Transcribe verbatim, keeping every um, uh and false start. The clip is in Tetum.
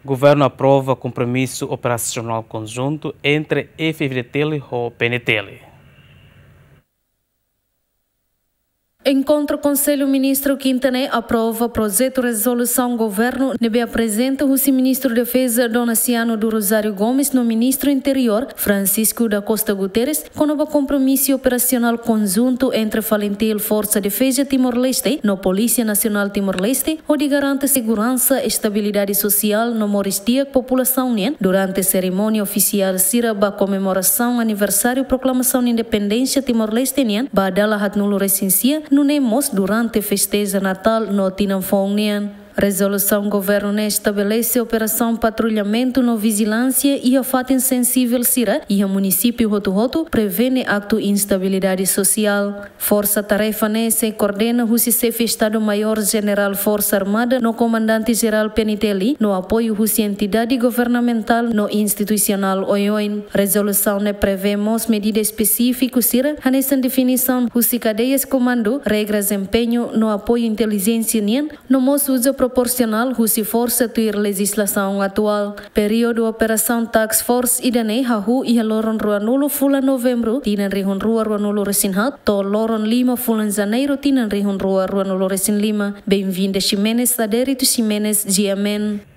Governu aprova kompromisu operasionál konjuntu entre F-FDTL ho P N T L. Enkontru Konsellu Ministru kinta ne'e aprova projetu rezolusaun governu ne'ebé aprezenta husi Ministru Defeza Donaciano do Rosário Gomes no Ministru Interiór Francisco da Costa Guterres kona-ba kompromisu operasionál konjuntu entre FALINTIL, Forsa Defeza Timor-Leste no Polísia Nasionál Timor-Leste, hodi garante seguransa, estabilidade sosiál no moris di'ak populasaun nian durante serimónia ofisiál sira ba komemorasaun aniversáriu proklamasaun independénsia Timor-Leste nian ba dala haatnulu resin sia, nune'e mós durante festeja Natál no Tinan Foun nian. Rezolusaun governu ne'e estabelese operasaun patrullamentu no vijilánsia iha fatin sensivel sira iha munisípiu hotu-hotu, prevene aktu instabilidade sosiál. Forsa-tarefa ne'e sei koordena husi Xefe Estadu-Maiór Jenerál Forsa Armada no Komandante Jerál P N T L, no apoiu husi entidade governamentál no institusionál oioin. Rezolusaun ne'e prevee mós medida espesífiku sira, hanesan definisaun husi kadeias komandu, regras empeñu no apoiu intelijénsia nian, no mós uza proporsionál husi forsa tuir lejizlasaun atuál. Períodu operasaun Task Force ida-ne'e hahú iha loron ruanulu fulan Novembru tinan rihun rua ruanulu resin haat to'o loron lima fulan Janeiru tinan rihun rua ruanulu resin lima. Benvinda Ximenes, Adérito Ximenes, G M N.